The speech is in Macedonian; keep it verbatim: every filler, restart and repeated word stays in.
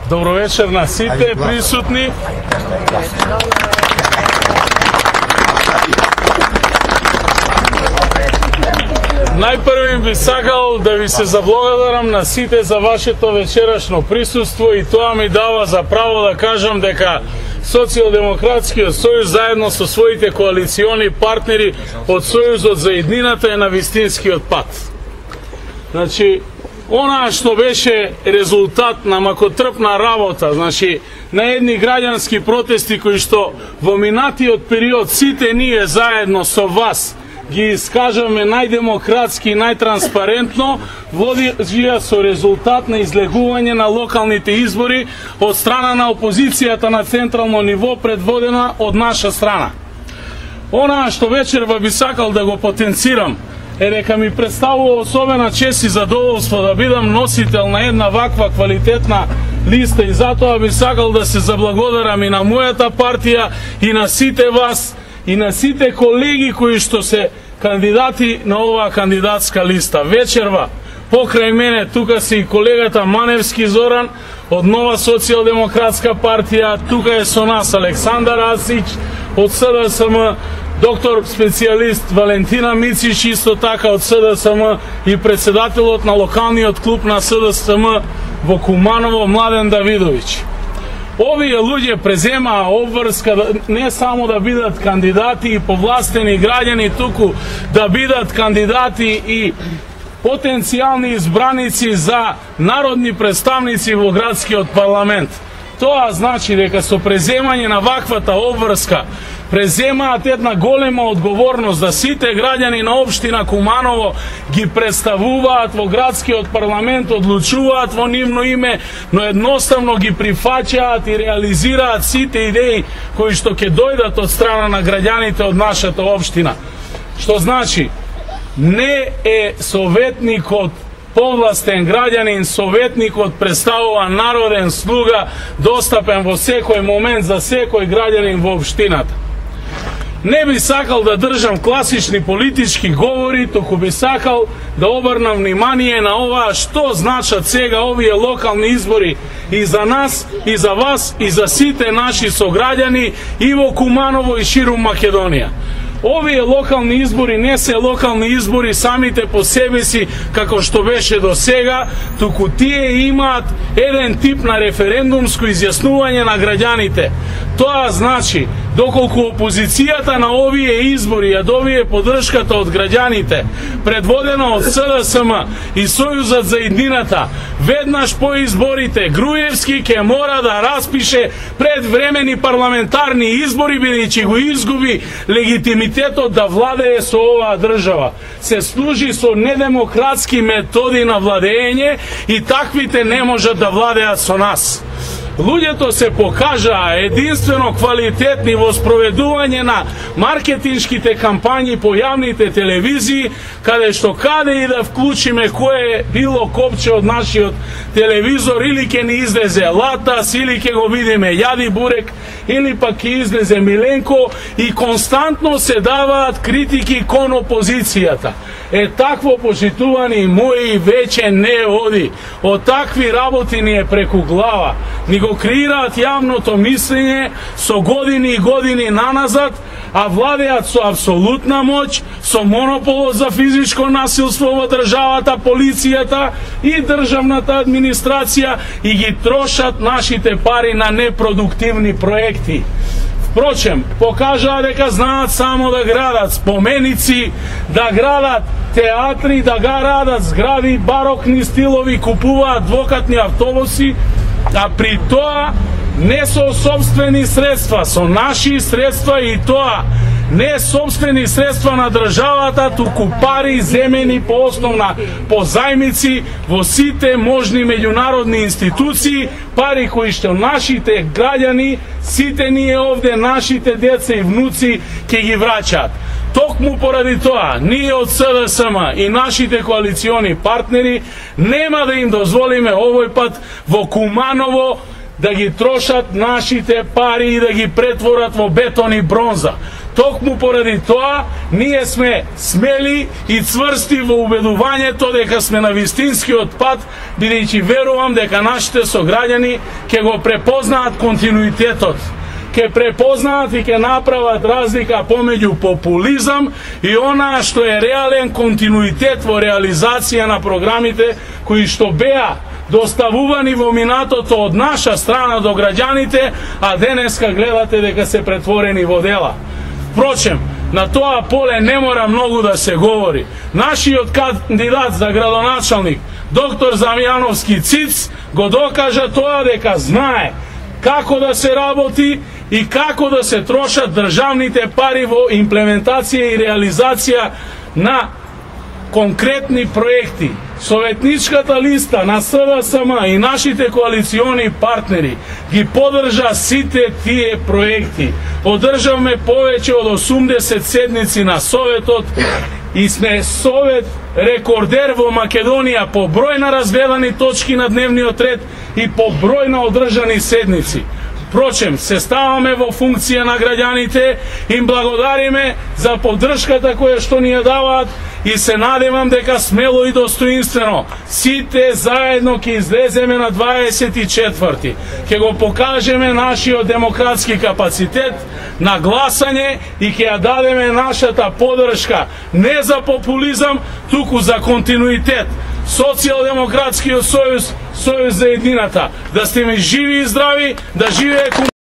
Добро вечер на сите присутни. Најпрво би сакал да ви се заблагодарам на сите за вашето вечерашно присуство и тоа ми дава за право да кажам дека Социјалдемократскиот сојуз заедно со своите коалициони партнери од Сојузот за иднината е на вистинскиот пат. Значи, она што беше резултат на макотрпна работа, значи, на едни граѓански протести кои што во минатиот период сите ние заедно со вас ги искажаме најдемократски и најтранспарентно, водија со резултат на излегување на локалните избори од страна на опозицијата на централно ниво, предводена од наша страна. Она што вечерва би сакал да го потенцирам е дека ми представува особена чест и задоволство да бидам носител на една ваква квалитетна листа и затоа би сакал да се заблагодарам и на мојата партија и на сите вас и на сите колеги кои што се кандидати на оваа кандидатска листа. Вечерва, покрај мене, тука се и колегата Маневски Зоран од Нова социјалдемократска партија, тука е со нас Александар Асич од С Д С М, доктор специјалист Валентина Мицич, исто така од С Д С М и председателот на локалниот клуб на С Д С М во Куманово Младен Давидовиќ. Овие луѓе преземаа обврска не само да бидат кандидати и повластени граѓани, туку да бидат кандидати и потенцијални избраници за народни представници во градскиот парламент. Тоа значи дека со преземање на ваквата обврска преземаат една голема одговорност да сите граѓани на општина Куманово ги представуваат во градскиот парламент, одлучуваат во нивно име, но едноставно ги прифаќаат и реализираат сите идеи кои што ќе дојдат од страна на граѓаните од нашата општина. Што значи, не е советникот повластен граѓанин, советникот представува народен слуга, достапен во секој момент за секој граѓанин во општината. Не би сакал да држам класични политички говори, току би сакал да обрнам внимание на ова што значат сега овие локални избори и за нас, и за вас, и за сите наши сограѓани и во Куманово и ширум Македонија. Овие локални избори не се локални избори самите по себе си, како што беше до сега, туку тие имаат еден тип на референдумско изјаснување на граѓаните. Тоа значи, доколку опозицијата на овие избори ја добие поддршката од граѓаните, предводена од С Д С М и Сојузот за иднината, веднаш по изборите Груевски ќе мора да распише предвремени парламентарни избори, бидејќи го изгуби легитимитетот да владее со оваа држава. Се служи со недемократски методи на владење и таквите не можат да владеат со нас. Луѓето се покажаа единствено квалитетни во спроведување на маркетиншките кампањи по јавните телевизии, каде што каде и да вклучиме кое било копче од нашиот телевизор, или ќе ни излезе Латас, или ќе го видиме Јади Бурек, или пак ќе излезе Миленко, и константно се даваат критики кон опозицијата. Е, такво, почитувани мои, веќе не оди. Од такви работи ни е преку глава. Ни го креираат јавното мислење со години и години наназад, а владеат со апсолутна моќ, со монополот за физичко насилство во државата, полицијата и државната администрација и ги трошат нашите пари на непродуктивни проекти. Впрочем, покажаа дека знаат само да градат споменици, да градат театри, да градат згради, барокни стилови, купуваат двокатни автобуси, а при тоа не со собствени средства, со наши средства, и тоа не собствени средства на државата, туку пари земени по основна по зајмици во сите можни меѓународни институции, пари кои што нашите граѓани, сите ние овде, нашите деца и внуци ќе ги враќаат. Токму поради тоа, ние од С Д С М и нашите коалициони партнери нема да им дозволиме овој пат во Куманово да ги трошат нашите пари и да ги претворат во бетон и бронза. Токму поради тоа, ние сме смели и цврсти во убедувањето дека сме на вистинскиот пат, бидејќи верувам дека нашите сограѓани ќе го препознаат континуитетот, ќе препознаат и ќе направат разлика помеѓу популизам и онаа што е реален континуитет во реализација на програмите кои што беа доставувани во минатото од наша страна до граѓаните, а денеска гледате дека се претворени во дела. Впрочем, на тоа поле не мора многу да се говори. Нашиот кандидат за градоначалник, доктор Замјановски Циц, го докажа тоа дека знае како да се работи и како да се трошат државните пари во имплементација и реализација на конкретни проекти. Советничката листа на С В С М и нашите коалициони партнери ги поддржа сите тие проекти. Одржавме повеќе од осумдесет седници на Советот и сме Совет рекордер во Македонија по број на разгледани точки на дневниот ред и по број на одржани седници. Впрочем, се ставаме во функција на граѓаните, им благодариме за поддршката која што ни ја даваат и се надевам дека смело и достоинствено сите заедно ќе излеземе на дваесет и четврти. Ќе го покажеме нашиот демократски капацитет на гласање и ќе ја дадеме нашата поддршка не за популизам, туку за континуитет. Социјалдемократскиот сојуз, сојуз за едината. Да сте ми живи и здрави, да живее